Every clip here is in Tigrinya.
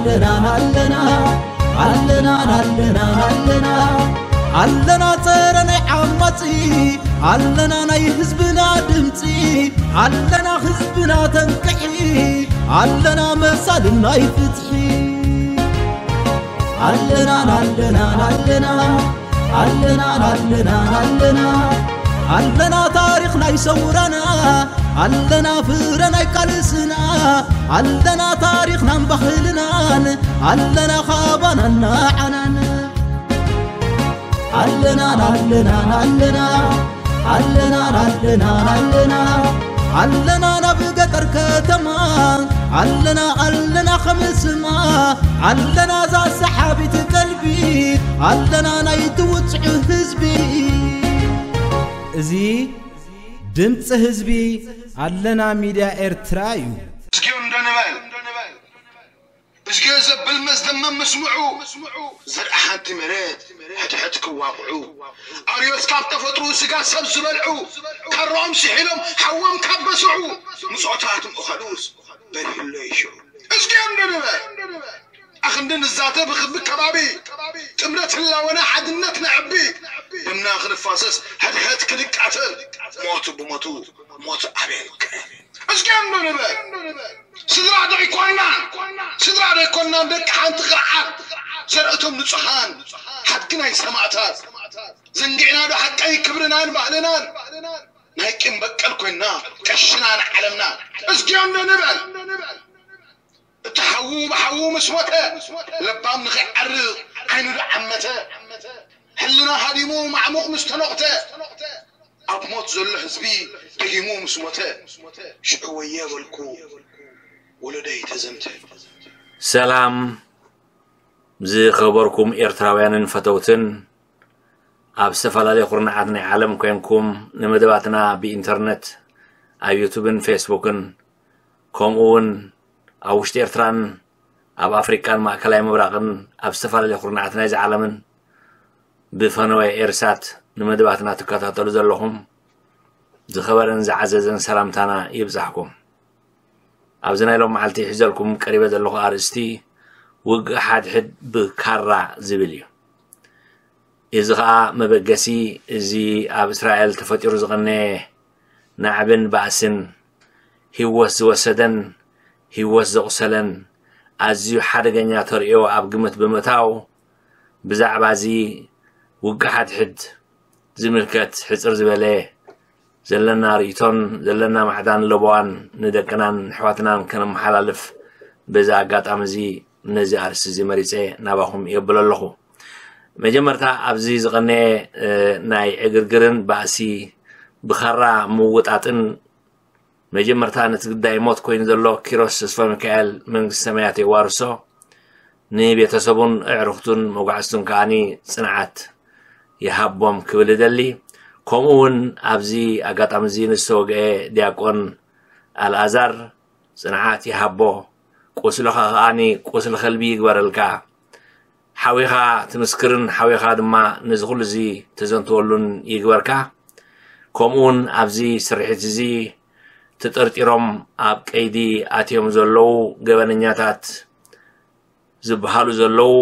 ኣለና ኣለና ኣለና ኣለና ኣለና ኣለና ጸረ ናይ ዓማጺ ኣለና ናይ ህዝብና ድምጺ ኣለና ህዝብና ተንቅሒ ኣለና መሳልን ናይ ፍትሒ ኣለና ኣለና ኣለና ኣለና ኣለና ኣለና ኣለና ታሪኽ ናይ ሰውራና ኣለና ፍረ ናይ ቃልስና ኣለና ታሪኽናን ባህልናን ኣለና ካባናን ንዓናን ኣለና ኣለና ኣለና ኣለና ኣለና ኣለና ኣለና ናብ ገጠር ከተማ ኣለና ኣለና ከምስማ ኣለና ዛ ሰሓቢት ቀልቢ ኣለና ናይ ትውፅዑ ህዝቢ እዚ ድምፂ ህዝቢ ኣለና ሚድያ ኤርትራ እዩ። እስኪ እንዶ ንበል እዝጌ ዘብል መዝደመም ምስምዑ ዘርኢ ሓንቲ መሬት ሕድሕድ ክዋቕዑ ኣርዮስ ካብ ተፈጥሩ ስጋ ሰብ ዝበልዑ ካሮኦም ስሒሎም ሓዎም ካብ በስዑ ምጾታት ምእኸሉስ በሪህሎ ይሽዑ እዝጌ እንዶ ንበል ኣኽንዲ ንዛተ ብኽቢ ከባቢ ጥምረት ህላወና ሓድነት ነዕቢ ደምና ክንፋሰስ ሕድሕድ ክንቃተል ሞት ብሞቱ ሞት ኣቤል ክእል እስኪ እንዶ ንበል ስድራ ዶ ኣይኮናን ስድራ ዶ ኣይኮናን ደቂ ሓንቲ ክርዓት ዘርእቶም ንጹሃን ሓድጊ ናይ ሰማእታት ዘንጊዕና ዶ ሓቀይ ክብርናን ባህልናን ናይ ቂም በቀል ኮይና ቀሽና ንዓለምና እስኪ እንዶ ንበል እቲ ሓዉ ብሓዉ ምስ ሞተ ለባም ንኸይዓርቕ ዓይኑ ዶ ዓመተ ሕልና ሃዲሙ ማዕሙቕ ምስ ተኖቕተ ኣብ ሞት ዘሎ ህዝቢ ደጊሙ ምስ ሞተ ሽዑ ወየ በልኩ ወለደይ ተዘምተ። ሰላም ዝኸበርኩም ኤርትራውያንን ፈተውትን ኣብ ዝተፈላለየ ኩርናዓት ናይ ዓለም ኮይንኩም ንመደባትና ብኢንተርነት ኣብ ዩቱብን ፌስቡክን ከምኡ እውን ኣብ ውሽጢ ኤርትራን ኣብ ኣፍሪቃን ማእከላይ ምብራቕን ኣብ ዝተፈላለየ ኩርናዓት ናይዚ ዓለምን ብፈነወ ኤርሳት ንመደባትና ትከታተሉ ዘለኹም ዝኸበረን ዝዓዘዘን ሰላምታና ይብጻሕኩም። ኣብዚ ናይ ሎም መዓልቲ ሒዘልኩም ቀሪበ ዘለኹ ኣርእስቲ ውግእ ሓድሕድ ብካራ ዝብል እዩ። እዚ ኸኣ መበገሲ እዚ ኣብ እስራኤል ተፈጢሩ ዝቐነየ ናዕብን ባእስን ህይወት ዝወሰደን ህይወት ዘቑሰለን ኣዝዩ ሓደገኛ ተርእዮ ኣብ ግምት ብምእታው ብዛዕባ እዚ ውግእ ሓድሕድ ዝምልከት ሕጽር ዝበለ ዘለና ርእይቶን ዘለና ማዕዳን ለበዋን ንደቅናን ኣሕዋትናን ከነመሓላልፍ በዚ ኣጋጣሚ እዚ ነዚ ኣርእስቲ እዚ መሪጸ ናባኹም የብል ኣለኹ። መጀመርታ ኣብዚ ዝቐነየ ናይ ዕግርግርን ባእሲ ብኻራ ምውጣጥን መጀመርታ ነቲ ግዳይ ሞት ኮይኑ ዘሎ ኪሮስ ተስፋሚካኤል መንግስተ ሰማያት የዋርሶ ንቤተሰቡን ኣዕሩኽቱን መጓዕዝቱን ከኣ ጽንዓት ይሃቦም ክብል እደሊ። ከምኡ እውን ኣብዚ ኣጋጣሚ እዚ ንዝተወግአ ዲያቆን ኣልኣዛር ጽንዓት ይሃቦ፣ ቁስልኻ ከኣ ቁስሊ ከልቢ ይግበረልካ። ሓዊኻ ትምስክርን ሓዊኻ ድማ ነዚ ኩሉ እዚ ተዘንትወሉን ይግበርካ። ከምኡ እውን ኣብዚ ስርሒት እዚ ተጠርጢሮም ኣብ ቀይዲ ኣትዮም ዘለዉ ገበነኛታት ዝበሃሉ ዘለዉ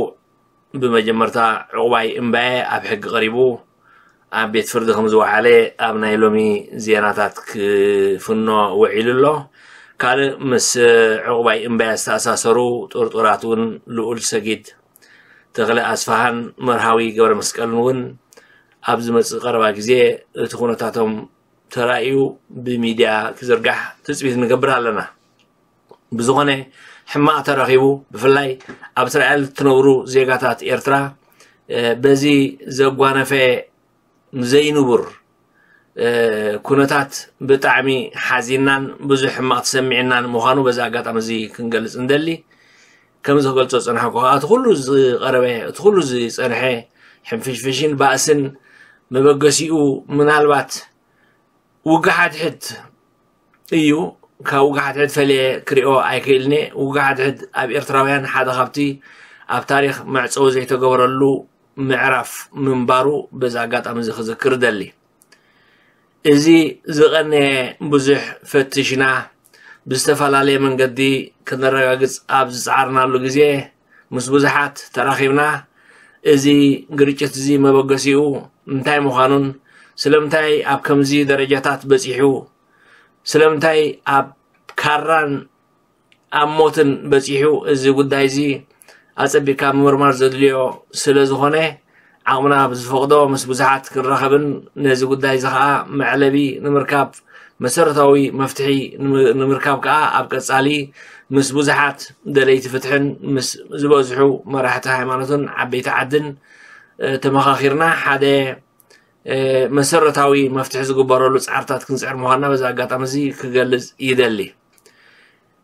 ብመጀመርታ ዕቑባይ እምባየ ኣብ ሕጊ ቀሪቡ ኣብ ቤት ፍርዲ ከም ዝወዓለ ኣብ ናይ ሎሚ ዜናታት ክፍኖ ውዒሉ ኣሎ። ካልእ ምስ ዕቑባይ እምባየ ዝተኣሳሰሩ ጥርጡራት እውን ልኡል ሰጊድ ተኽለ ኣስፍሃን መርሃዊ ገብረመስቀልን እውን ኣብ ዝመጽእ ቀረባ ግዜ እቲ ኩነታቶም ተራእዩ ብሚድያ ክዝርጋሕ ትጽቢት ንገብር ኣለና። ብዝኾነ ሕማቕ ተረኺቡ ብፍላይ ኣብ እስራኤል እትነብሩ ዜጋታት ኤርትራ በዚ ዘጓነፈ ዘይንቡር ኩነታት ብጣዕሚ ሓዚንናን ብዙሕ ሕማቕ ተሰሚዕናን ምዃኑ በዚ ኣጋጣሚ እዚ ክንገልጽ እንደሊ። ከምዚ ክገልጾ ዝጸናሕኩ ከኣ እቲ ኩሉ ዝቐረበ እቲ ኩሉ ዝጸንሐ ሕንፍሽፍሽን ባእስን መበገሲኡ ምናልባት ውግእ ሓድሕድ እዩ። ካብ ውግእ ሓድሕድ ፈልየ ክሪኦ ኣይክእልን እየ። ውግእ ሓድሕድ ኣብ ኤርትራውያን ሓደ ካብቲ ኣብ ታሪኽ መዕጸዊ ዘይተገበረሉ ምዕራፍ ምንባሩ በዚ ኣጋጣሚ እዚ ክዝክር እደሊ። እዚ ዝቐነየ ብዙሕ ፈቲሽና ብዝተፈላለየ መንገዲ ክነረጋግጽ ኣብ ዝጸዓርናሉ ግዜ፣ ምስ ብዙሓት ተራኺብና፣ እዚ ግርጭት እዚ መበገሲኡ እንታይ ምዃኑን፣ ስለምንታይ ኣብ ከምዚ ደረጃታት በጺሑ፣ ስለምንታይ ኣብ ካራን ኣብ ሞትን በጺሑ፣ እዚ ጉዳይ እዚ ኣጸቢቕካ ምምርማር ዘድልዮ ስለ ዝኾነ፣ ዓቕምና ብዝፈቕዶ ምስ ብዙሓት ክንራኸብን ነዚ ጉዳይ እዚ ኸኣ መዕለቢ ንምርካብ፣ መሰረታዊ መፍትሒ ንምርካብ ከኣ ኣብ ቀጻሊ ምስ ብዙሓት ደለይቲ ፍትሕን ምስ ዝበዝሑ መራሕቲ ሃይማኖትን ዓበይቲ ዓድን ተመኻኺርና ሓደ መሰረታዊ መፍትሒ ዝግበረሉ ጻዕርታት ክንጽዕር ምዃንና በዚ ኣጋጣሚ እዚ ክገልጽ ይደሊ።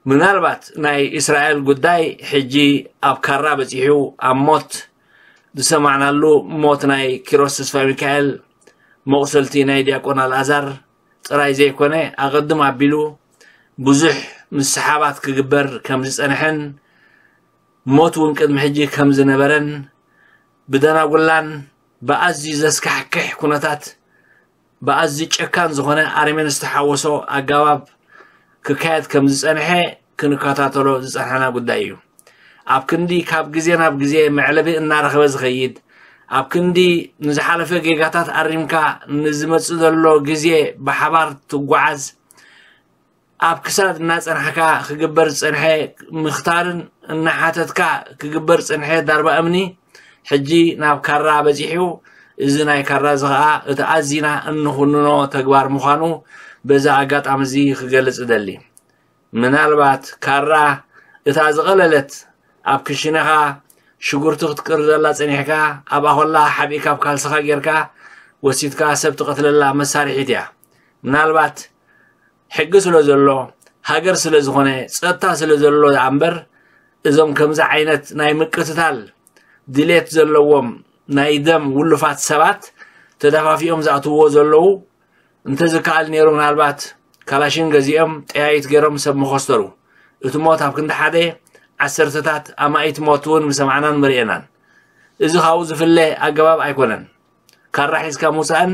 ምናልባት ናይ እስራኤል ጉዳይ ሕጂ ኣብ ካራ በጺሑ ኣብ ሞት ዝሰማዕናሉ ሞት ናይ ኪሮስ ተስፋ ሚካኤል፣ መቑሰልቲ ናይ ዲያቆን ኣልኣዛር ጥራይ ዘይኮነ፣ ኣቐድም ኣቢሉ ብዙሕ ምስሓባት ክግበር ከም ዝጸንሐን ሞት እውን ቅድሚ ሕጂ ከም ዝነበረን ብደናጉላን ብኣዝዩ ዘስካሕክሕ ኩነታት ብኣዝዩ ጨካን ዝኾነ ኣረሜን ዝተሓወሶ ኣገባብ ክካየድ ከም ዝጸንሐ ክንከታተሎ ዝጸንሐና ጉዳይ እዩ። ኣብ ክንዲ ካብ ግዜ ናብ ግዜ መዕለቢ እናረኸበ ዝኸይድ፣ ኣብ ክንዲ ንዝሓለፈ ጌጋታት ኣሪምካ ንዝመጽእ ዘሎ ግዜ ብሓባር ትጓዓዝ፣ ኣብ ክሳድ እናጸናሕካ ክግበር ዝጸንሐ ምኽታርን እናሓተትካ ክግበር ዝጸንሐ ዳርባ እምኒ ሕጂ ናብ ካራ በጺሑ። እዚ ናይ ካራ እዚ ኸኣ እቲ ኣዚና እንኹንኖ ተግባር ምዃኑ በዚ ኣጋጣሚ እዚ ክገልጽ እደሊ። ምናልባት ካራ እታ ዝቐለለት ኣብ ክሽነኻ ሽጉርቲ ክትቅርዘላ ጸኒሕካ ኣብኣ ኮላ ሓቢእካ ኣብ ካልስኻ ጌርካ ወሲድካ ሰብ ትቐትለላ መሳርሒት እያ። ምናልባት ሕጊ ስለ ዘሎ፣ ሃገር ስለ ዝኾነ፣ ጸጥታ ስለ ዘሎ ደኣ እምበር፣ እዞም ከምዚ ዓይነት ናይ ምቅትታል ድሌት ዘለዎም ናይ ደም ውሉፋት ሰባት ተደፋፊኦም ዝኣትውዎ ዘለዉ፣ እንተዝከኣል ነይሩ ምናልባት ካላሽን ገዚኦም ጠያይት ገይሮም ሰብ መኸስተሩ። እቲ ሞት ኣብ ክንዲ ሓደ ዓሰርተታት ኣማኢት ሞት እውን ምሰማዕናን መርኤናን። እዚ ካብኡ ዝፍለ ኣገባብ ኣይኮነን። ካራ ሒዝካ ምውጻእን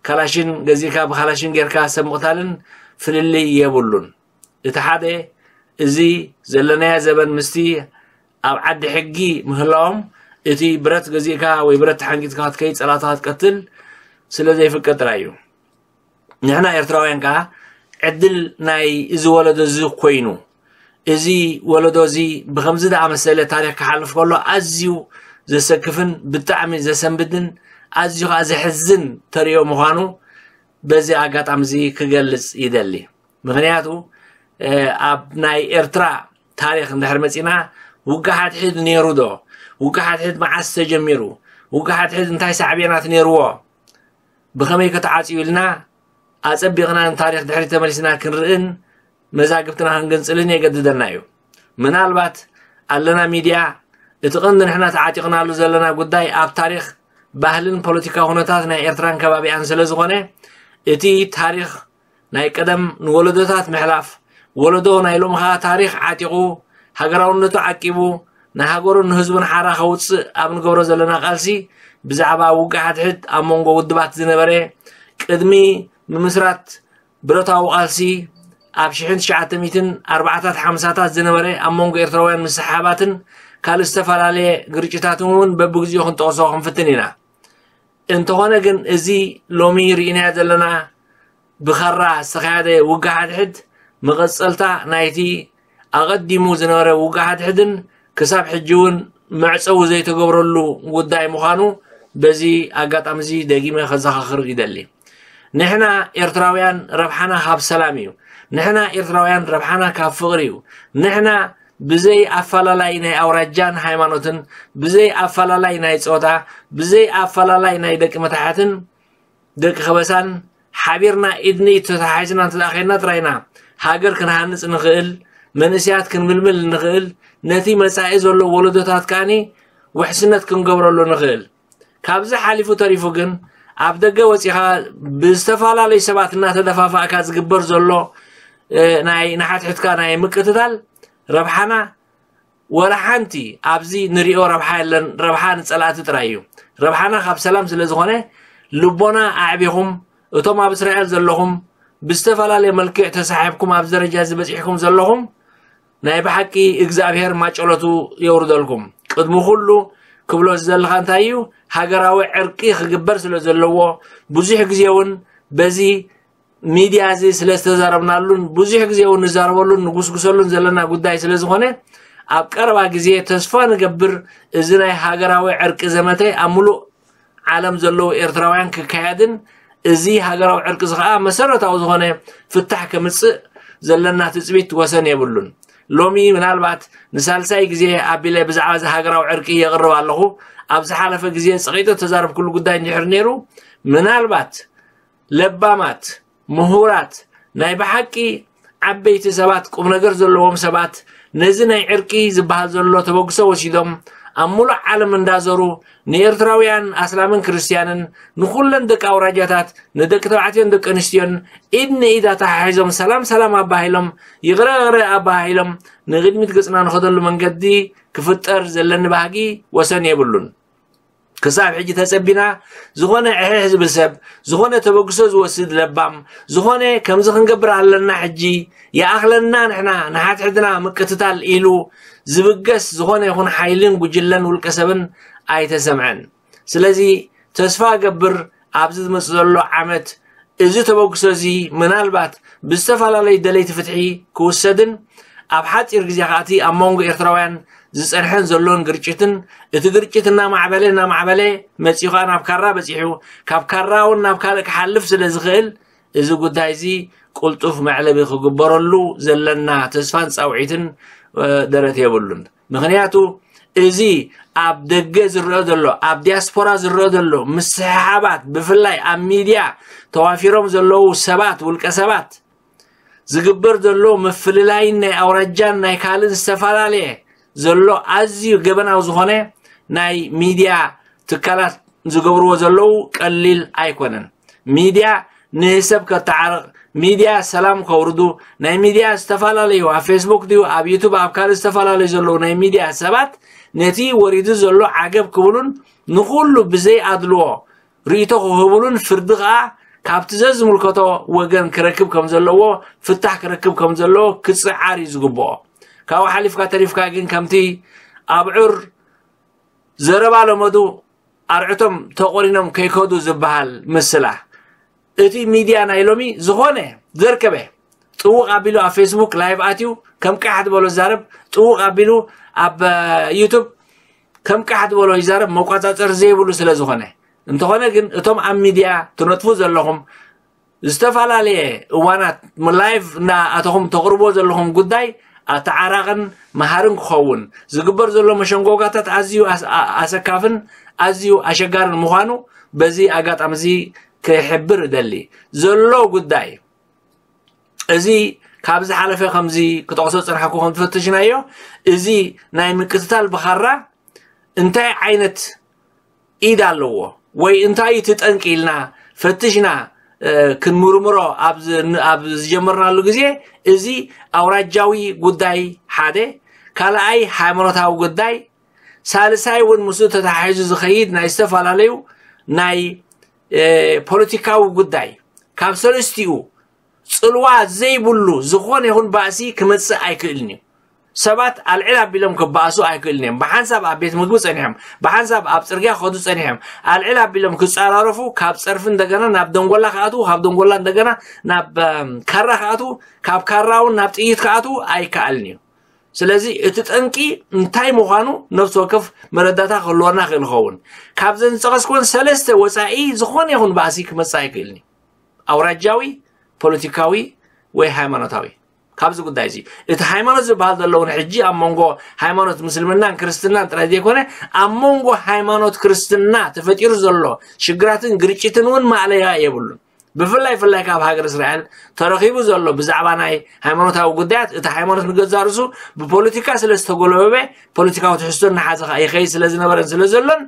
ካላሽን ገዚእካ ብካላሽን ጌርካ ሰብ ምቕታልን ፍልልይ የብሉን። እቲ ሓደ፣ እዚ ዘለናዮ ዘበን ምስቲ ኣብ ዓዲ ሕጊ ምህላዎም፣ እቲ ብረት ገዚእካ ወይ ብረት ተሓንጊጥካ ክትከይድ፣ ጸላእትኻ ክትቀትል ስለ ዘይፍቀድ ጥራይ እዩ። ንሕና ኤርትራውያን ከኣ ዕድል ናይ እዚ ወለዶ እዚ ኮይኑ፣ እዚ ወለዶ እዚ ብኸምዚ ዝኣመሰለ ታሪኽ ክሓልፍ ከሎ ኣዝዩ ዘሰክፍን ብጣዕሚ ዘሰንብድን ኣዝዩ ከኣ ዘሕዝን ተርእዮ ምዃኑ በዚ ኣጋጣሚ እዚ ክገልጽ ይደሊ። ምኽንያቱ፣ እ፣ ኣብ ናይ ኤርትራ ታሪኽ እንድሕር መጺና፣ ውግእ ሓድሕድ ነይሩ ዶ? ውግእ ሓድሕድ መዓስ ተጀሚሩ? ውግእ ሓድሕድ እንታይ ሳዕቤናት ነይርዎ? ብኸመይ ከተዓጽዩ ኢልና ኣጸቢቕና ንታሪኽ ድሕሪት ተመሊስና ክንርእን መዛግብትና ክንግንጽልን የገድደና እዩ። ምናልባት ኣለና ሚድያ፣ እቲ ቀንዲ ንሕና ተዓጢቕናሉ ዘለና ጉዳይ ኣብ ታሪኽ፣ ባህልን ፖለቲካዊ ኩነታት ናይ ኤርትራን ከባቢኣን ስለ ዝኾነ፣ እቲ ታሪኽ ናይ ቀደም ንወለዶታት ምሕላፍ፣ ወለዶ ናይ ሎሚ ኸኣ ታሪኽ ዓጢቑ፣ ሃገራውነቱ ዓቂቡ፣ ንሃገሩን ንህዝቡን ሓራ ከውጽእ ኣብ ንገብሮ ዘለና ቃልሲ፣ ብዛዕባ ውግእ ሓድሕድ ኣብ መንጎ ውድባት ዝነበረ፣ ቅድሚ ምምስራት ብረታዊ ቃልሲ ኣብ ሽሕን ትሽዓተ ሚእትን ኣርባዓታት ሓምሳታት ዝነበረ ኣብ መንጎ ኤርትራውያን ምስሕሓባትን ካልእ ዝተፈላለየ ግርጭታትን እውን በብግዚኡ ክንጠቕሶ ክንፍትን ኢና። እንተኾነ ግን እዚ ሎሚ ርኢናዮ ዘለና ብኻራ ዝተኻየደ ውግእ ሓድሕድ መቐጸልታ ናይቲ ኣቐዲሙ ዝነበረ ውግእ ሓድሕድን ክሳብ ሕጂ እውን መዕጸዊ ዘይተገብረሉ ጉዳይ ምዃኑ በዚ ኣጋጣሚ እዚ ደጊመ ከዘኻኽር ይደሊ። ንሕና ኤርትራውያን ረብሓና ካብ ሰላም እዩ። ንሕና ኤርትራውያን ረብሓና ካብ ፍቕሪ እዩ። ንሕና ብዘይ ኣፈላላይ ናይ ኣውራጃን ሃይማኖትን፣ ብዘይ ኣፈላላይ ናይ ጾታ፣ ብዘይ ኣፈላላይ ናይ ደቂ መታሕትን ደቂ ከበሳን ሓቢርና ኢድ ንኢድ ተተሓሒዝና እንተ ደኣ ኸይድና ጥራይ ኢና ሃገር ክንሃንጽ ንኽእል፣ መንእሰያት ክንምልምል ንኽእል፣ ነቲ መጻኢ ዘሎ ወለዶታት ከኣኒ ውሕስነት ክንገብረሉ ንኽእል። ካብዚ ሓሊፉ ተሪፉ ግን ኣብ ደገ ወጺኻ ብዝተፈላለዩ ሰባት እናተደፋፋእካ ዝግበር ዘሎ፣ እ፣ ናይ ንሓድሕድካ ናይ ምቅትታል ረብሓና ወላ ሓንቲ ኣብዚ ንሪኦ ረብሓ የለን። ረብሓ ንጸላእቲ ጥራይ እዩ። ረብሓና ካብ ሰላም ስለ ዝኾነ ልቦና ኣዕቢኹም እቶም ኣብ እስራኤል ዘለኹም ብዝተፈላለየ መልክዕ ተሳሒብኩም ኣብዚ ደረጃ እዚ በፂሕኩም ዘለኹም ናይ ብሓቂ እግዚኣብሔር ማጨሎቱ የውርደልኩም። ቅድሚ ኩሉ ክብሎ ዝደለኻ እንታይ እዩ? ሃገራዊ ዕርቂ ክግበር ስለ ዘለዎ ብዙሕ ግዜ እውን በዚ ሚድያ እዚ ስለ ዝተዛረብናሉን ብዙሕ ግዜ እውን ንዛረበሉን ንጉስጉሰሉን ዘለና ጉዳይ ስለ ዝኾነ ኣብ ቀረባ ግዜ ተስፋ ንገብር እዚ ናይ ሃገራዊ ዕርቂ ዘመተ ኣብ ሙሉእ ዓለም ዘለዉ ኤርትራውያን ክካየድን እዚ ሃገራዊ ዕርቂ እዚ ከዓ መሰረታዊ ዝኾነ ፍታሕ ከምፅእ ዘለና ትፅቢት ወሰን የብሉን። ሎሚ ምናልባት ንሳልሳይ ግዜ ኣቢለ ብዛዕባ እዚ ሃገራዊ ዕርቂ የቕርብ ኣለኹ። ኣብ ዝሓለፈ ግዜ ፀቒጠ ተዛረብኩሉ ጉዳይ እንድሕር ነይሩ ምናልባት ለባማት ምሁራት ናይ ብሓቂ ዓበይቲ ሰባት ቁም ነገር ዘለዎም ሰባት ነዚ ናይ ዕርቂ ዝበሃል ዘሎ ተበግሶ ወሲዶም ኣብ ሙሉእ ዓለም እንዳዘሩ ንኤርትራውያን ኣስላምን ክርስትያንን ንኩለን ደቂ ኣውራጃታት ንደቂ ተባዕትዮን ደቂ ኣንስትዮን ኢድ ንኢድ ኣተሓሒዞም ሰላም ሰላም ኣባሂሎም ይቕረ ይቕረ ኣባሂሎም ንቕድሚት ገጽና ንኸደሉ መንገዲ ክፍጠር ዘለኒ ባህጊ ወሰን የብሉን። ክሳብ ሕጂ ተጸቢና ዝኾነ ዕሕሕ ዝብል ሰብ ዝኾነ ተበግሶ ዝወስድ ለባም ዝኾነ ከምዚ ክንገብር ኣለና ሕጂ ይኣኽለና ንሕና ንሓትሕድና ምቅትታል ኢሉ ዝብገስ ዝኾነ ይኹን ሓይልን ጉጅለን ውልቀ ሰብን ኣይተሰምዐን። ስለዚ ተስፋ እገብር ኣብዚ ዝመጽእ ዘሎ ዓመት እዚ ተበግሶ እዚ ምናልባት ብዝተፈላለዩ ደለይቲ ፍትሒ ክውሰድን ኣብ ሓጺር ግዜ ከኣቲ ኣብ መንጎ ኤርትራውያን ዝጸንሐን ዘሎን ግርጭትን እቲ ግርጭት እናማዕበለ እናማዕበለ መጺኡ ከኣ ናብ ካራ በጺሑ ካብ ካራ እውን ናብ ካልእ ክሓልፍ ስለ ዝኽእል እዚ ጉዳይ እዚ ቁልጡፍ መዕለቢ ክግበረሉ ዘለና ተስፋን ጻውዒትን ደረት የብሉን። ምኽንያቱ እዚ ኣብ ደገ ዝረአ ዘሎ ኣብ ዲያስፖራ ዝረአ ዘሎ ምስሕሓባት ብፍላይ ኣብ ሚድያ ተዋፊሮም ዘለዉ ሰባት ውልቀ ሰባት ዝግበር ዘሎ ምፍልላይን ናይ ኣውራጃን ናይ ካልእን ዝተፈላለየ ዘሎ ኣዝዩ ገበናዊ ዝኾነ ናይ ሚድያ ትካላት ዝገብርዎ ዘለዉ ቀሊል ኣይኮነን። ሚድያ ንሰብ ከተዓርቕ ሚድያ ሰላም ከውርዱ ናይ ሚድያ ዝተፈላለዩ ኣብ ፌስቡክ ድዩ ኣብ ዩቱብ ኣብ ካልእ ዝተፈላለዩ ዘለዉ ናይ ሚድያ ሰባት ነቲ ወሪዱ ዘሎ ዓገብ ክብሉን ንኩሉ ብዘይ ኣድልዎ ርእይቶ ክህብሉን ፍርዲ ከዓ ካብቲ ዘዝምልከቶ ወገን ክረክብ ከም ዘለዎ ፍታሕ ክረክብ ከም ዘለዎ ክፅዓር እዩ ዝግብኦ። ካብኡ ሓሊፍካ ተሪፍካ ግን ከምቲ ኣብዑር ዘረባ ለመዱ ኣርዕቶም ተቆሪኖም ከይከዱ ዝበሃል ምስላ እቲ ሚድያ ናይ ሎሚ ዝኾነ ዘርከበ ጥውቕ ኣቢሉ ኣብ ፌስቡክ ላይቭ ኣትዩ ከም ቃሕ ዝበሎ ዛረብ ጥውቕ ኣቢሉ ኣብ ዩቱብ ከም ቃሕ ዝበሎ ይዛረብ መቋፃፀር ዘይብሉ ስለ ዝኾነ እንተኾነ ግን እቶም ኣብ ሚድያ ትነጥፉ ዘለኹም ዝተፈላለየ እዋናት ላይቭ እናኣተኹም ተቕርቦ ዘለኹም ጉዳይ ኣተዓራቕን መሃርን ክኸውን ዝግበር ዘሎ መሸንጎጋታት ኣዝዩ ኣሰካፍን ኣዝዩ ኣሸጋርን ምዃኑ በዚ ኣጋጣሚ እዚ ክሕብር እደሊ ዘሎ ጉዳይ እዚ ካብ ዝሓለፈ ከምዚ ክጠቕሶ ዝፀናሕኩ ከም ዝፈተሽናዮ እዚ ናይ ምቅትታል ብኻራ እንታይ ዓይነት ኢድ ኣለዎ ወይ እንታይ እቲ ጠንቂ ኢልና ፈትሽና ክንምርምሮ ኣብ ዝጀመርናሉ ግዜ እዚ ኣውራጃዊ ጉዳይ ሓደ ካልኣይ ሃይማኖታዊ ጉዳይ ሳልሳይ እውን ምስኡ ተተሓሒዙ ዝኸይድ ናይ ዝተፈላለዩ ናይ ፖለቲካዊ ጉዳይ ካብ ሰለስቲኡ ፅልዋ ዘይብሉ ዝኾነ ይኹን ባእሲ ክመፅእ ኣይክእልን እዩ። ሰባት ኣልዕል ኣቢሎም ክበኣሱ ኣይክእልን እዮም። ብሓንሳብ ኣብ ቤት ምግቢ ፀኒሖም፣ ብሓንሳብ ኣብ ፅርግያ ክኸዱ ፀኒሖም። ኣልዕል ኣቢሎም ክፀራረፉ ካብ ፀርፊ እንደገና ናብ ደንጎላ ክኣትዉ፣ ካብ ደንጎላ እንደገና ናብ ካራ ክኣትዉ፣ ካብ ካራ እውን ናብ ጥይት ክኣትዉ ኣይከኣልን እዩ። ስለዚ እቲ ጠንቂ እንታይ ምዃኑ ነፍሲ ወከፍ መረዳታ ክህልወና ክእል ይኸውን። ካብዘን ዝፀቐስኩወን ሰለስተ ወፃኢ ዝኾነ ይኹን ባእሲ ክመፅእ ኣይክእልን እዩ። ኣውራጃዊ፣ ፖለቲካዊ ወይ ሃይማኖታዊ። ካብዚ ጉዳይ እዚ እቲ ሃይማኖት ዝበሃል ዘሎ እውን ሕጂ ኣብ መንጎ ሃይማኖት ምስልምናን ክርስትናን ጥራይ ዘይኮነ ኣብ መንጎ ሃይማኖት ክርስትና ተፈጢሩ ዘሎ ሽግራትን ግርጭትን እውን ማእለያ የብሉን። ብፍላይ ፍላይ ካብ ሃገር እስራኤል ተረኺቡ ዘሎ ብዛዕባ ናይ ሃይማኖታዊ ጉዳያት እቲ ሃይማኖት ንገዛእ ርእሱ ብፖለቲካ ስለ ዝተጎለበበ ፖለቲካዊ ትሕዝቶ እናሓዘ ከዓ ይኸይድ ስለ ዝነበረን ስለ ዘሎን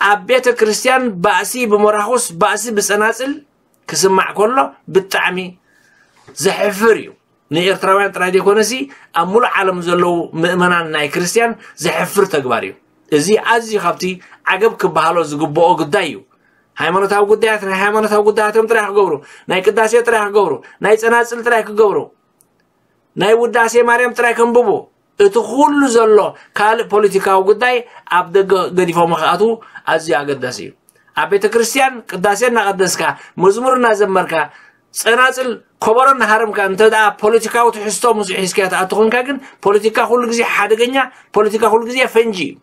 ኣብ ቤተ ክርስቲያን ባእሲ ብመራኹስ ባእሲ ብፀናፅል ክስማዕ ከሎ ብጣዕሚ ዘሕፍር እዩ። ንኤርትራውያን ጥራይ ዘይኮነሲ ኣብ ሙሉእ ዓለም ዘለዉ ምእመናን ናይ ክርስቲያን ዘሕፍር ተግባር እዩ። እዚ ኣዝዩ ካብቲ ዓገብ ክበሃሎ ዝግብኦ ጉዳይ እዩ። ሃይማኖታዊ ጉዳያት ናይ ሃይማኖታዊ ጉዳያቶም ጥራይ ክገብሩ፣ ናይ ቅዳሴ ጥራይ ክገብሩ፣ ናይ ጸናጽል ጥራይ ክገብሩ፣ ናይ ውዳሴ ማርያም ጥራይ ከንብቡ፣ እቲ ኩሉ ዘሎ ካልእ ፖለቲካዊ ጉዳይ ኣብ ደገ ገዲፎም ክኣትዉ ኣዝዩ ኣገዳሲ እዩ። ኣብ ቤተ ክርስቲያን ቅዳሴ እናቐደስካ፣ መዝሙር እናዘመርካ፣ ጸናጽል፣ ኮበሮ እናሃረምካ፣ እንተ ደኣ ፖለቲካዊ ትሕዝቶ ምስ ሒዝካዮ ትኣቱ ኮንካ ግን፣ ፖለቲካ ኩሉ ግዜ ሓደገኛ፣ ፖለቲካ ኩሉ ግዜ ፈንጂ እዩ።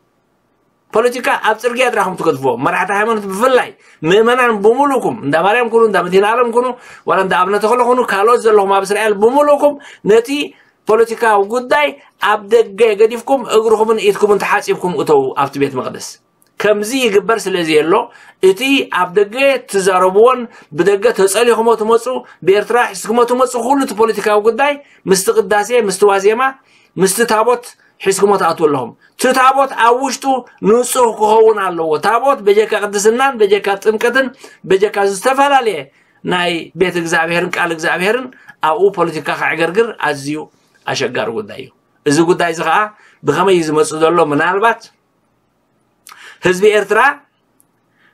ፖለቲካ ኣብ ጽርግያ ጥራኹም ትገድፍዎ። መራሕቲ ሃይማኖት ብፍላይ፣ ምእመናን ብምሉእኩም፣ እንዳ ማርያም ኩኑ፣ እንዳ መድህን ዓለም ኩኑ፣ ዋላ እንዳ ኣብነ ተኽለ ኩኑ፣ ካልኦት ዘለኹም ኣብ እስራኤል ብምሉእኩም፣ ነቲ ፖለቲካዊ ጉዳይ ኣብ ደገ ገዲፍኩም፣ እግርኹምን ኢድኩምን ተሓጺብኩም እተዉ ኣብቲ ቤት መቕደስ። ከምዚ ይግበር ስለ ዘየሎ፣ እቲ ኣብ ደገ ትዛረብዎን ብደገ ተጸሊኹሞ ትመጹ፣ ብኤርትራ ሒዝኩሞ ትመጹ ኩሉ እቲ ፖለቲካዊ ጉዳይ ምስቲ ቅዳሴ፣ ምስቲ ዋዜማ፣ ምስቲ ታቦት ሒዝኩሞ ትኣትዉ ኣለኹም። እቲ ታቦት ኣብ ውሽጡ ንጹህ ክኸውን ኣለዎ። ታቦት በጀካ ቅድስናን በጀካ ጥምቀትን በጀካ ዝተፈላለየ ናይ ቤት እግዚኣብሔርን ቃል እግዚኣብሔርን ኣብኡ ፖለቲካ ከዕገርግር ኣዝዩ ኣሸጋሪ ጉዳይ እዩ። እዚ ጉዳይ እዚ ኸኣ ብኸመይ እዩ ዝመጽእ ዘሎ? ምናልባት ህዝቢ ኤርትራ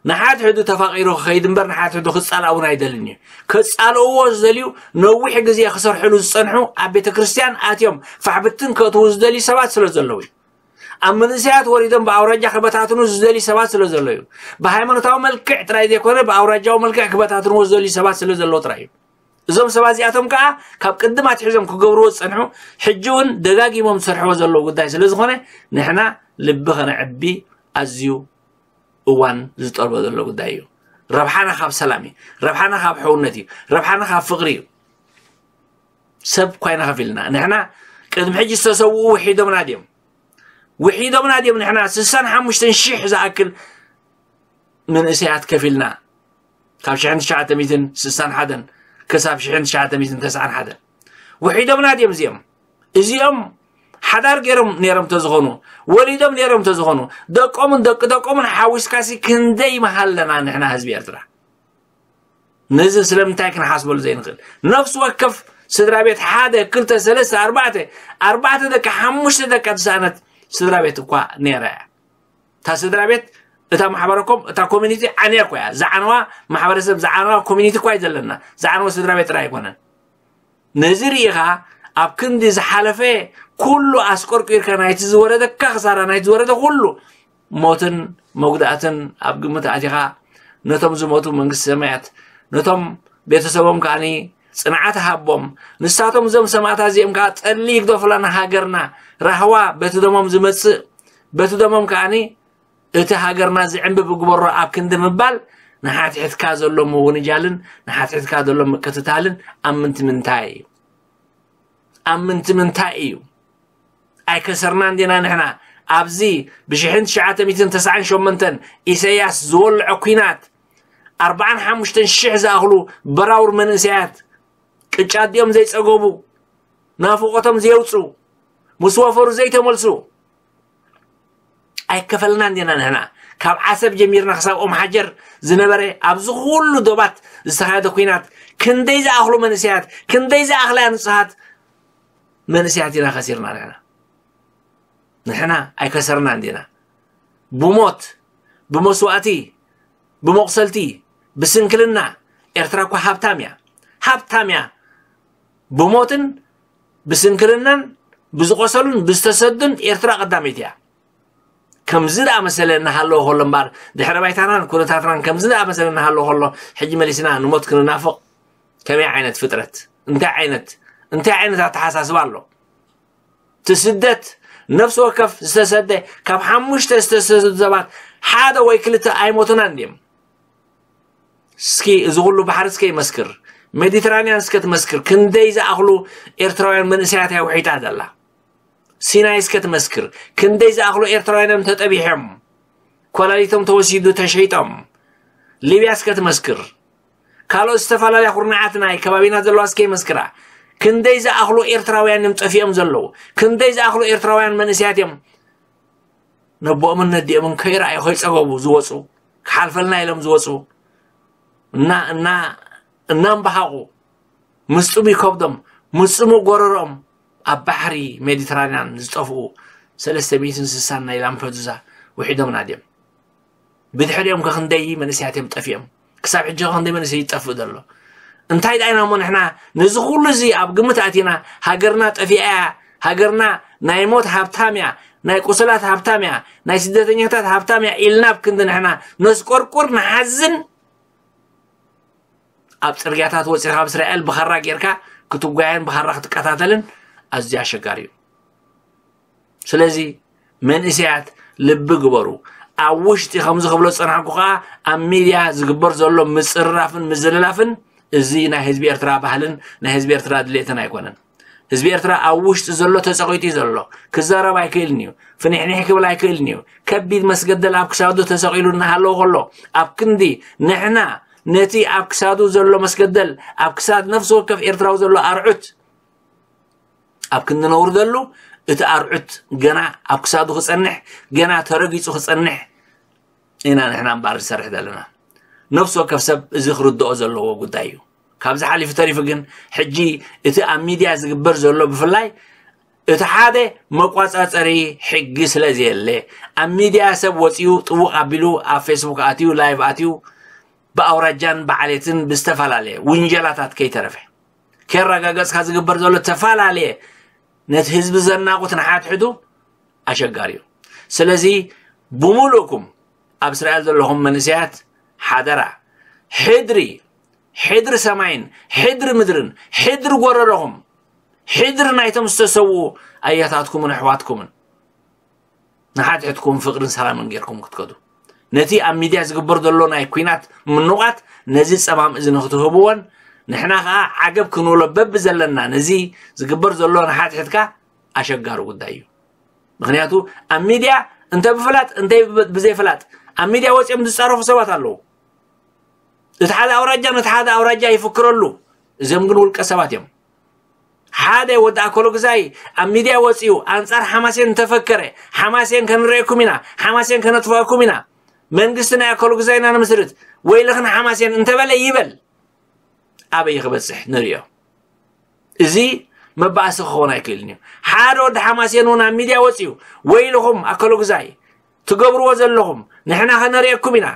ንሓድሕዱ ተፋቒሩ ክኸይድ እምበር ንሓድሕዱ ክጻላእ እውን ኣይደልን እዩ። ክጻልእዎ ዝደልዩ ነዊሕ ግዜ ክሰርሕሉ ዝጸንሑ ኣብ ቤተ ክርስቲያን ኣትዮም ፋሕብትን ከእትዉ ዝደልዩ ሰባት ስለ ዘለዉ እዩ። ኣብ መንእሰያት ወሪዶም ብኣውራጃ ክበታትኑ ዝደልዩ ሰባት ስለ ዘለዉ እዩ። ብሃይማኖታዊ መልክዕ ጥራይ ዘይኮነ ብኣውራጃዊ መልክዕ ክበታትንዎ ዝደልዩ ሰባት ስለ ዘለዉ ጥራይ እዩ። እዞም ሰባት እዚኣቶም ከኣ ካብ ቅድም ኣትሒዞም ክገብርዎ ዝጸንሑ ሕጂ እውን ደጋጊሞም ዝሰርሕዎ ዘለዉ ጉዳይ ስለ ዝኾነ ንሕና ልቢ ከነዕቢ ኣዝዩ እዋን ዝጠልቦ ዘሎ ጉዳይ እዩ። ረብሓና ካብ ሰላም እዩ። ረብሓና ካብ ሕውነት እዩ። ረብሓና ካብ ፍቕሪ እዩ። ሰብ እኳ ኢና ከፊልና። ንሕና ቅድሚ ሕጂ ዝተሰውኡ ውሒዶምና ድዮም? ውሒዶምና ድዮም? ንሕና ስሳን ሓሙሽተን ሽሕ ዝኣክል መንእሰያት ከፊልና ካብ ሽሕን ትሽዓተ ሚእትን ስሳን ሓደን ክሳብ ሽሕን ትሽዓተ ሚእትን ተስዓን ሓደን ውሒዶምና ድዮም እዚኦም? እዚኦም ሓዳር ገይሮም ነይሮም ተዝኾኑ፣ ወሊዶም ነይሮም ተዝኾኑ፣ ደቆምን ደቂ ደቆምን ሓዊስካሲ ክንደይ ምሃለና ንሕና ህዝቢ ኤርትራ? ነዚ ስለምንታይ ክንሓስበሉ ዘይንኽእል? ነፍሲ ወከፍ ስድራ ቤት ሓደ፣ ክልተ፣ ሰለስተ፣ ኣርባዕተ፣ ኣርባዕተ ደቂ፣ ሓሙሽተ ደቂ ዝሰኣነት ስድራ ቤት እኳ ነይራ እያ። እታ ስድራ ቤት፣ እታ ማሕበረኮም፣ እታ ኮሚኒቲ ዓንያ እኮ እያ። ዝዓነዋ ማሕበረሰብ፣ ዝዓነዋ ኮሚኒቲ እኳ እዩ ዘለና። ዝዓነወ ስድራ ቤት ጥራይ ኣይኮነን። ነዚ ርኢኻ ኣብ ክንዲ ዝሓለፈ ኩሉ ኣስቆርቂርካ ናይቲ ዝወረደካ ክሳራ ናይቲ ዝወረደ ኩሉ ሞትን መጉዳእትን ኣብ ግምት ኣቲኻ ነቶም ዝሞቱ መንግስቲ ሰማያት ነቶም ቤተሰቦም ከዓኒ ጽንዓት ሃቦም። ንሳቶም እዞም ሰማእታት እዚኦም ከዓ ጠሊ ይግደፉላ ንሃገርና ራህዋ በቲ ደሞም ዝመጽእ በቲ ደሞም ከዓኒ እቲ ሃገርና ዝዕንብብ ግበሮ ኣብ ክንዲ ምባል ንሓትሕትካ ዘሎ ምውንጃልን ንሓትሕትካ ዘሎ ምቅትታልን ኣብ ምንቲ ምንታይ እዩ? ኣብ ምንቲ ምንታይ እዩ? ኣይከሰርናን ዲና ንሕና? ኣብዚ ብሽሕን ትሽዓተ ሚእትን ተስዓን ሸሞንተን ኢሰያስ ዝወልዖ ኲናት ኣርባዓን ሓሙሽተን ሽሕ ዝኣኽሉ በራውር መንእሰያት ቅጫ ኣዲኦም ዘይጸገቡ ናፍቖቶም ዘየውጽኡ ምስ ወፈሩ ዘይተመልሱ ኣይከፈልናን ዲና ንሕና? ካብ ዓሰብ ጀሚርና ክሳብ ኦም ሓጀር ዝነበረ ኣብዚ ኩሉ ዶባት ዝተኻየደ ኲናት ክንደይ ዝኣኽሉ መንእሰያት ክንደይ ዝኣኽላ ንጹሃት መንእሰያት ኢና ከሲርና ንሕና? ንሕና ኣይከሰርናን ዲና? ብሞት ብመስዋእቲ ብመቑሰልቲ ብስንክልና ኤርትራ እኳ ሃብታም እያ። ሃብታም እያ። ብሞትን ብስንክልናን ብዝቆሰሉን ብዝተሰዱን ኤርትራ ቀዳመይቲ እያ። ከምዚ ደኣ መሰለ እናሃለወ ከሎ እምበር ድሕረ ባይታናን ኩነታትናን ከምዚ ደኣ መሰለ እናሃለወ ከሎ ሕጂ መሊስና ንሞት ክንናፍቕ ከመይ ዓይነት ፍጥረት እንታይ ዓይነት እንታይ ዓይነት ኣተሓሳስባ ኣሎ? እቲ ስደት ነፍሲ ወከፍ ዝተሰደ ካብ ሓሙሽተ ዝተሰዱ ሰባት ሓደ ወይ ክልተ ኣይሞቱናን ድዮም? እስኪ እዚ ኩሉ ባሕሪ እስከ ይመስክር፣ ሜዲትራንያን እስከ ትመስክር፣ ክንደይ ዝኣኽሉ ኤርትራውያን መንእሰያት እያ ውሒጣ ዘላ። ሲናይ እስከ ትመስክር፣ ክንደይ ዝኣኽሉ ኤርትራውያን እዮም ተጠቢሖም፣ ኮላሊቶም ተወሲዱ ተሸይጦም። ሊብያ እስከ ትመስክር፣ ካልኦት ዝተፈላለያ ኩርናዓት ናይ ከባቢና ዘለዋ እስከ ይመስክራ። ክንደይ ዝኣኽሉ ኤርትራውያን እዮም ጠፊኦም ዘለዉ፣ ክንደይ ዝኣኽሉ ኤርትራውያን መንእሰያት እዮም ነቦኦምን ነዲኦምን ከይረኣዩ ከይጸገቡ ዝወጹ፣ ክሓልፈልና ኢሎም ዝወጹ፣ እና እና እናምበሃቑ ምስ ጽሙይ ከብዶም ምስ ጽሙእ ጎረሮኦም ኣብ ባሕሪ ሜዲትራንያን ዝጠፍኡ ሰለስተ ሚእትን ስሳን ናይ ላምፐዱዛ ውሒዶምና ድዮም? ብድሕሪኦም ከክንደይ መንእሰያት እዮም ጠፊኦም። ክሳብ ሕጂ ከክንደይ መንእሰይ ይጠፍእ ዘሎ። እንታይ ዳይና እሞ ንሕና ነዚ ኩሉ እዚ ኣብ ግምት ኣቲና፣ ሃገርና ጠፊኣ እያ፣ ሃገርና ናይ ሞት ሃብታም እያ፣ ናይ ቁስላት ሃብታም እያ፣ ናይ ስደተኛታት ሃብታም እያ ኢልና ኣብ ክንዲ ንሕና ነስቆርቁር ንሓዝን፣ ኣብ ጽርግያታት ወጺኻ ኣብ እስራኤል ብኻራ ጌርካ ክትጓየን ብኻራ ክትቀታተልን ኣዝዩ ኣሸጋሪ እዩ። ስለዚ መንእሰያት ልቢ ግበሩ። ኣብ ውሽጢ ከምዚ ክብሎ ዝጸናሕኩ ከኣ ኣብ ሚድያ ዝግበር ዘሎ ምጽርራፍን ምዝልላፍን እዚ ናይ ህዝቢ ኤርትራ ባህልን ናይ ህዝቢ ኤርትራ ድሌትን ኣይኮነን። ህዝቢ ኤርትራ ኣብ ውሽጢ ዘሎ ተጸቒጡ እዩ ዘሎ። ክዛረብ ኣይክእልን እዩ። ፍኒሕኒሕ ክብል ኣይክእልን እዩ። ከቢድ መስገደል ኣብ ክሳዱ ተሰቒሉ እናሃለወ ከሎ ኣብ ክንዲ ንሕና ነቲ ኣብ ክሳዱ ዘሎ መስገደል ኣብ ክሳድ ነፍሲ ወከፍ ኤርትራዊ ዘሎ ኣርዑት ኣብ ክንዲ ነውርደሉ እቲ ኣርዑት ገና ኣብ ክሳዱ ክጸንሕ ገና ተረጊጹ ክጸንሕ ኢና ንሕና እምበኣር ንሰርሕ ዘለና። ነፍሲ ወከፍ ሰብ እዚ ክርድኦ ዘለዎ ጉዳይ እዩ። ካብዚ ሓሊፉ ተሪፉ ግን ሕጂ እቲ ኣብ ሚድያ ዝግበር ዘሎ ብፍላይ እቲ ሓደ መቋጻጸሪ ሕጊ ስለ ዘየለ ኣብ ሚድያ ሰብ ወጺኡ ጥውቕ ኣቢሉ ኣብ ፌስቡክ ኣትዩ ላይቭ ኣትዩ ብኣውራጃን ብዓሌትን ብዝተፈላለየ ውንጀላታት ከይተረፈ ከረጋገጽካ ዝግበር ዘሎ ዝተፈላለየ ነቲ ህዝቢ ዘናቑት ንሓትሕዱ ኣሸጋሪ እዩ። ስለዚ ብምሉእኩም ኣብ እስራኤል ዘለኹም መንእሰያት ሓደራ ሕድሪ ሕድሪ ሰማይን ሕድሪ ምድርን ሕድሪ ጎረሮኹም ሕድሪ ናይቶም ዝተሰውኡ ኣያታትኩምን ኣሕዋትኩምን ንሓድሕድኩም ፍቕርን ሰላምን ጌርኩም ክትከዱ ነቲ ኣብ ሚድያ ዝግበር ዘሎ ናይ ኲናት ምንቋት ነዚ ጸማም እዚ ንክትህብዎን ንሕና ከዓ ዓገብ ክንብሎ በቢ ዘለና ነዚ ዝግበር ዘሎ ንሓድሕድካ ኣሸጋሪ ጉዳይ እዩ። ምክንያቱ ኣብ ሚድያ እንተ ብፍላጥ እንተ ብዘይፍላጥ ኣብ ሚድያ ወፂኦም ዝፃረፉ ሰባት ኣለዉ። እቲ ሓደ ኣውራጃ ነቲ ሓደ ኣውራጃ ይፍክረሉ። እዚኦም ግን ውልቀ ሰባት እዮም። ሓደ ወዲ ኣኮሎ ግዛይ ኣብ ሚድያ ወፂኡ ኣንፃር ሓማሴን እንተፈከረ ሓማሴን ከንረየኩም ኢና፣ ሓማሴን ከነጥፍኣኩም ኢና፣ መንግስቲ ናይ ኣኮሎ ግዛይና ንምስርት ወይልኽን ሓማሴን እንተበለ ይበል ኣበይ ክበፅሕ ንሪኦ። እዚ መባእሲ ክኸውን ኣይክእልን እዩ። ሓደ ወዲ ሓማሴን እውን ኣብ ሚድያ ወፂኡ ወይልኹም ኣኮሎ ግዛይ ትገብርዎ ዘለኹም ንሕና ከነርእየኩም ኢና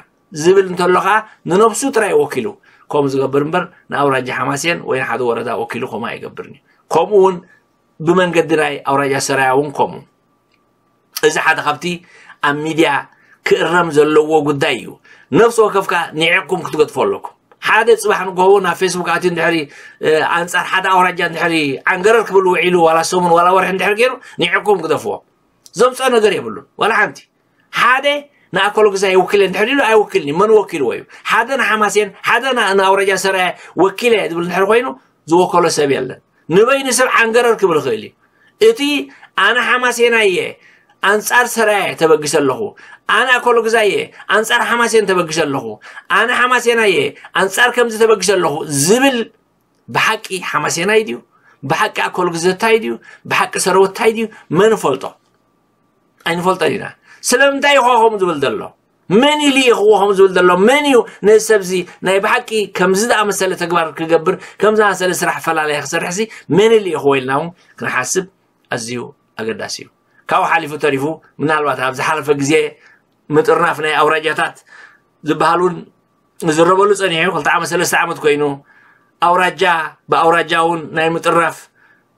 ዝብል እንተሎ ከዓ ንነብሱ ጥራይ ወኪሉ ከምኡ ዝገብር እምበር ንኣውራጃ ሓማሴን ወይ ንሓደ ወረዳ ወኪሉ ከምኡ ኣይገብርን እዩ። ከምኡ እውን ብመንገዲ ናይ ኣውራጃ ሰራያ እውን ከምኡ። እዚ ሓደ ካብቲ ኣብ ሚድያ ክእረም ዘለዎ ጉዳይ እዩ። ነፍሲ ወከፍካ ንዒቕኩም ክትገጥፎ ኣለኩም። ሓደ ፅባሕ ንጎሆ ናብ ፌስቡክ ኣትዩ እንድሕሪ ኣንፃር ሓደ ኣውራጃ እንድሕሪ ዓንገረር ክብል ውዒሉ ዋላ ሰሙን ዋላ ወርሒ እንድሕሪ ገይሩ ንዒቕኩም ግደፍዎ። ዘምፅኦ ነገር የብሉን ዋላ ሓንቲ። ሓደ ንኣኮሎ ግዛይ ይውክል እንድሕር ኢሉ ኣይውክልን እዩ። መን ወኪልዎ እዩ? ሓደ ንሓማሴን ሓደ ንኣውራጃ ሰራየ ወኪለ ዝብል እንድሕር ኮይኑ ዝወከሎ ሰብ የለን። ንበይኑ ሰብ ዓንገረር ክብል ይኽእል እዩ። እቲ ኣነ ሓማሴናየ ኣንጻር ሰራየ ተበግሰ ኣለኹ፣ ኣነ ኣኮሎ ግዛየ ኣንጻር ሓማሴን ተበግሰ ኣለኹ፣ ኣነ ሓማሴናየ ኣንጻር ከምዚ ተበግሰ ኣለኹ ዝብል ብሓቂ ሓማሴናይ ድዩ? ብሓቂ ኣኮሎ ግዘታይ ድዩ? ብሓቂ ሰረወታይ ድዩ? መን ፈልጦ? ኣይንፈልጦን ኢና። ስለምንታይ ኢኹ ከምኡ ዝብል ዘሎ? መን እዩ ልኢኽዎ ከምኡ ዝብል ዘሎ? መን እዩ ነዚ ሰብዚ ናይ ብሓቂ ከምዚ ዝኣመሰለ ተግባር ክገብር ከምዚ ዝኣመሰለ ስራሕ ፈላለየ ክሰርሕሲ መን እዩ ልኢኽዎ ኢልና እውን ክንሓስብ ኣዝዩ ኣገዳሲ እዩ። ካብኡ ሓሊፉ ተሪፉ ምናልባት ኣብ ዝሓለፈ ግዜ ምጥርናፍ ናይ ኣውራጃታት ዝበሃል እውን ዝረበሉ ጸኒሑ ክልተ ዓመት ሰለስተ ዓመት ኮይኑ ኣውራጃ ብኣውራጃ እውን ናይ ምጥራፍ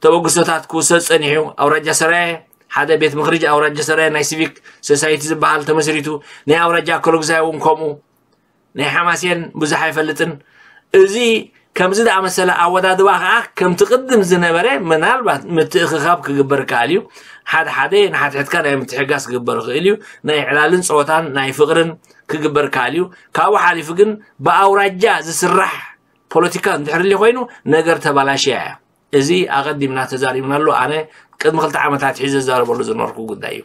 ተበግሶታት ክውሰድ ጸኒሑ ኣውራጃ ሰራየ ሓደ ቤት ምኽሪ ኣውራጃ ሰራየ ናይ ሲቪክ ሶሳይቲ ዝበሃል ተመስሪቱ ናይ ኣውራጃ ኣኮሎግዛይ እውን ከምኡ ናይ ሓማሴን ብዙሕ ኣይፈልጥን። እዚ ከምዚ ዝኣመሰለ ኣወዳድባ ከዓ ከምቲ ቅድም ዝነበረ ምናልባት ምትእኽኻብ ክግበር ይከኣል እዩ። ሓደ ሓደ ንሓድሕድካ ናይ ምትሕጋስ ክግበር ይኽእል እዩ። ናይ ዕላልን ፀወታን ናይ ፍቕርን ክግበር ይከኣል እዩ። ካብኡ ሓሊፉ ግን ብኣውራጃ ዝስራሕ ፖለቲካ እንድሕር ኮይኑ ነገር ተባላሽያ እያ። እዚ ኣቐዲምና ተዛሪብናሉ። ኣነ ቅድሚ ክልተ ዓመታት ሒዘ ዝዛረበሉ ዝነበርኩ ጉዳይ እዩ።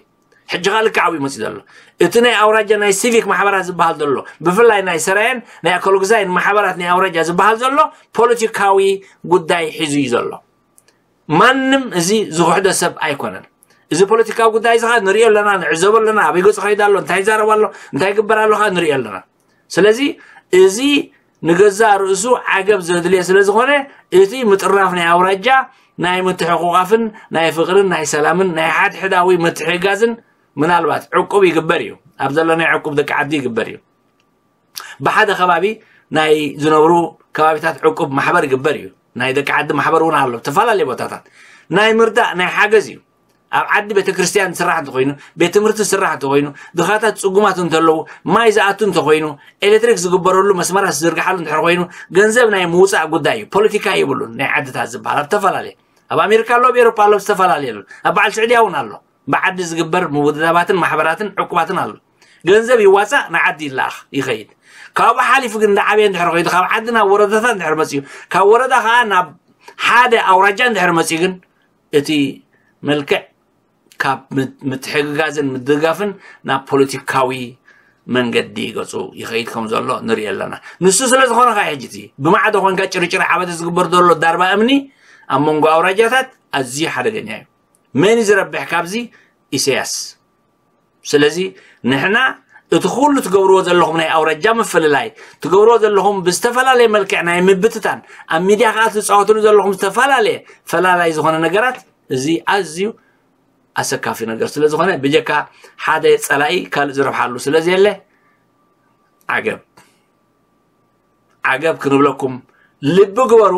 ሕጂ ኸኣ ልክዕ ኣብኡ ይመፅእ ዘሎ እቲ ናይ ኣውራጃ ናይ ሲቪክ ማሕበራት ዝበሃል ዘሎ ብፍላይ ናይ ሰራየን ናይ ኣኮሎግዛይን ማሕበራት ናይ ኣውራጃ ዝበሃል ዘሎ ፖለቲካዊ ጉዳይ ሒዙ እዩ ዘሎ። ማንም እዚ ዝኽሕዶ ሰብ ኣይኮነን። እዚ ፖለቲካዊ ጉዳይ እዚ ኸኣ ንሪኦ ኣለና፣ ንዕዘቦ ኣለና። ኣበይ ገፁ ኸይድ ኣሎ፣ እንታይ ይዛረብ ኣሎ፣ እንታይ ይግበር ኣሎ ኸኣ ንሪኦ ኣለና። ስለዚ እዚ ንገዛእ ርእሱ ዓገብ ዘድልዮ ስለ ዝኾነ እቲ ምጥርናፍ ናይ ኣውራጃ ናይ ምትሕቑቓፍን ናይ ፍቕርን ናይ ሰላምን ናይ ሓድሕዳዊ ምትሕግጋዝን ምናልባት ዕቁብ ይግበር እዩ። ኣብ ዘለናይ ዕቁብ ደቂ ዓዲ ይግበር እዩ። ብሓደ ከባቢ ናይ ዝነብሩ ከባቢታት ዕቁብ ማሕበር ይግበር እዩ። ናይ ደቂ ዓዲ ማሕበር እውን ኣሎ፣ ዝተፈላለዩ ቦታታት ናይ ምርዳእ ናይ ሓገዝ እዩ። ኣብ ዓዲ ቤተክርስትያን ዝስራሕ እንተኾይኑ፣ ቤት ትምህርቲ ዝስራሕ እንተኾይኑ፣ ድኻታት ጽጉማት እንተለዉ፣ ማይ ዝኣቱ እንተኾይኑ፣ ኤሌክትሪክ ዝግበረሉ መስመራት ዝዝርግሓሉ እንድሕር ኮይኑ፣ ገንዘብ ናይ ምውጻእ ጉዳይ እዩ። ፖለቲካ የብሉን። ናይ ዓድታት ዝበሃል ኣብ ዝተፈላለየ፣ ኣብ ኣሜሪካ ኣሎ፣ ኣብ ኤሮፓ ኣሎ፣ ዝተፈላለየ ኣሎ። ኣብ በዓል ስዑድያ እውን ኣሎ። ብዓዲ ዝግበር ምውድዳባትን ማሕበራትን ዕቁባትን ኣሎ። ገንዘብ ይዋጻእ፣ ንዓዲ ይለኣኽ፣ ይኸይድ። ካብኡ ሓሊፉ ግን እንዳዓበየ እንድሕር ኸይዱ፣ ካብ ዓዲ ናብ ወረዳታት እንድሕር መጺኡ፣ ካብ ወረዳ ኸዓ ናብ ሓደ ኣውራጃ እንድሕር መጺኡ ግን፣ እቲ መልክዕ ካብ ምት-፣ ምትሕግጋዝን ምድጋፍን ናብ ፖለቲካዊ መንገዲ ገጹ ይኸይድ ከም ዘሎ ንርኢ ኣለና። ንሱ ስለ ዝኾነ ኸዓ ሕጂ እቲ ብማዕዶ ኮንካ ጭርጭር ዓበደ ዝግበር ዘሎ ዳርባ እምኒ ኣብ መንጎ ኣውራጃታት ኣዝዩ ሓደገኛ እዩ። መን እዩ ዝረብሕ ካብዚ? ኢሳያስ። ስለዚ ንሕና እቲ ኩሉ ትገብርዎ ዘለኹም ናይ ኣውራጃ ምፍልላይ፣ ትገብርዎ ዘለኹም ብዝተፈላለየ መልክዕ ናይ ምብትታን፣ ኣብ ሚድያ ከዓ ትፃወትሉ ዘለኹም ዝተፈላለየ ፈላላይ ዝኾነ ነገራት፣ እዚ ኣዝዩ ኣሰካፊ ነገር ስለ ዝኾነ፣ ብጀካ ሓደ ፀላኢ ካልእ ዝረብሓሉ ስለ ዘየለ፣ ዓገብ፣ ዓገብ ክንብለኩም ልቢ ግበሩ።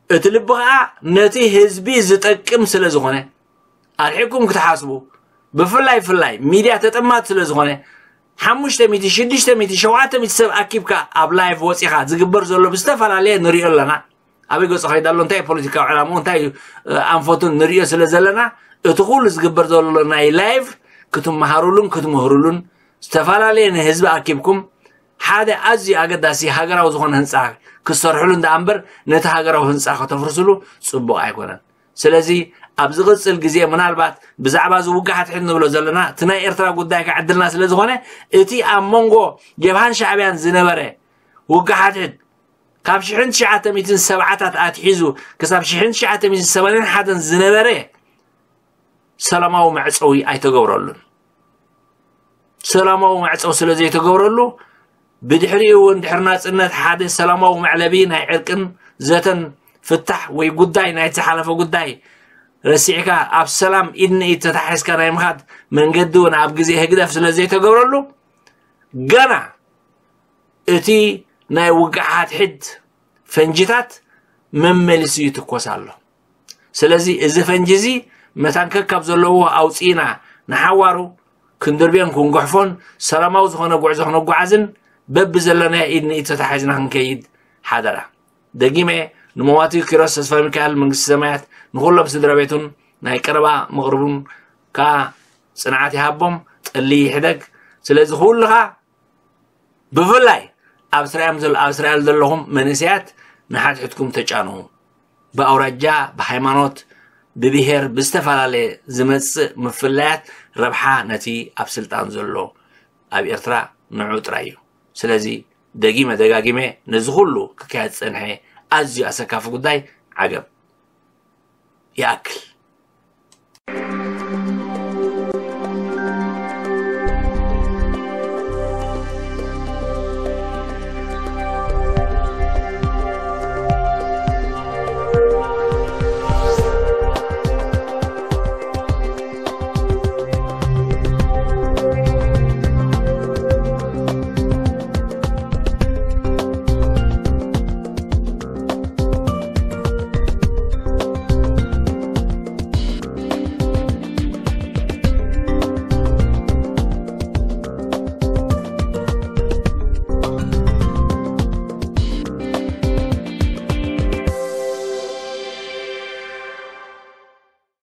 እቲ ልቢ ከዓ ነቲ ህዝቢ ዝጠቅም ስለ ዝኾነ፣ ኣርሒቕኩም ክትሓስቡ፣ ብፍላይ ፍላይ ሚድያ ተጠማት ስለ ዝኾነ፣ ሓሙሽተ ሚእቲ፣ ሽዱሽተ ሚእቲ፣ ሸውዓተ ሚእቲ ሰብ ኣኪብካ ኣብ ላይቭ ወፂኻ ዝግበር ዘሎ ብዝተፈላለየ ንሪኦ ኣለና። ኣበይ ገፁ ከይዳ ኣሎ፣ እንታይ ፖለቲካዊ ዕላምኡ፣ እንታይ እዩ፣ እ፣ ኣንፈቱን ንሪኦ ስለ ዘለና፣ እቲ ኩሉ ዝግበር ዘሎ ናይ ላይቭ ክትመሃሩሉን ክትምህሩሉን፣ ዝተፈላለየ ንህዝቢ ኣኪብኩም ሓደ ኣዝዩ ኣገዳሲ ሃገራዊ ዝኾነ ህንፃ ክትሰርሕሉ እንዳ እምበር፣ ነቲ ሃገራዊ ህንፃ ከተፍርስሉ ፅቡቕ ኣይኮነን። ስለዚ ኣብ ዝቕፅል ግዜ ምናልባት ብዛዕባ እዚ ውግእ ሓድሕድ ንብሎ ዘለና፣ እቲ ናይ ኤርትራ ጉዳይ ከዓ ዕድልና ስለ ዝኾነ፣ እቲ ኣብ መንጎ ጀብሃን ሻዕብያን ዝነበረ ውግእ ሓድሕድ ካብ ሽሕን ትሽዓተ ሚእትን ሰብዓታት ኣትሒዙ ክሳብ ሽሕን ትሽዓተ ሚእትን ሰማንያን ሓደን ዝነበረ ሰላማዊ መዕፀዊ ኣይተገብረሉን። ሰላማዊ መዕፀዊ ስለ ዘይተገብረሉ፣ ብድሕሪኡ እውን ድሕሪ ናፅነት ሓደ ሰላማዊ መዕለቢ ናይ ዕርቅን ዘተን ፍታሕ ወይ ጉዳይ ናይቲ ዝሓለፈ ጉዳይ ረሲዕካ ኣብ ሰላም ኢድ ንኢድ ተታሒዝካ ናይ ምኻድ መንገዲ እውን ኣብ ግዜ ህግደፍ ስለ ዘይተገብረሉ፣ ገና እቲ ናይ ውግእ ሓድሕድ ፈንጂታት መመሊሱ ይትኮስ ኣሎ። ስለዚ እዚ ፈንጂ እዚ መታን ከካብ ዘለዎ ኣውፂእና ንሓዋሩ ክንድርብዮን ክንጉሕፎን ሰላማዊ ዝኾነ ጉዕዞ ክነጓዓዝን በብዘለናዮ ኢድ ንኢድ ተታሒዝና ክንከይድ ሓደራ። ደጊመ ንመዋቲ ኪሮስ ተስፋ ሚካኤል መንግስቲ ሰማያት ንኹሎም ስድራ ቤቱን ናይ ቀረባ ምቕርቡን ከዓ ጽንዓት ይሃቦም፣ ጠሊ ይሕደግ። ስለዚ ኩልኻ ብፍላይ ኣብ እስራኤል ዘለ-፣ ኣብ እስራኤል ዘለኹም መንእሰያት ንሓድሕድኩም ተጫንኹ። ብኣውራጃ፣ ብሃይማኖት፣ ብብሄር፣ ብዝተፈላለየ ዝመጽእ ምፍላያት ረብሓ ነቲ ኣብ ስልጣን ዘሎ ኣብ ኤርትራ ንዑ ጥራይ እዩ። ስለዚ ደጊመ ደጋጊመ ነዚ ኩሉ ክካየድ ዝጸንሐ ኣዝዩ ኣሰካፊ ጉዳይ ዓገብ ይኣክል።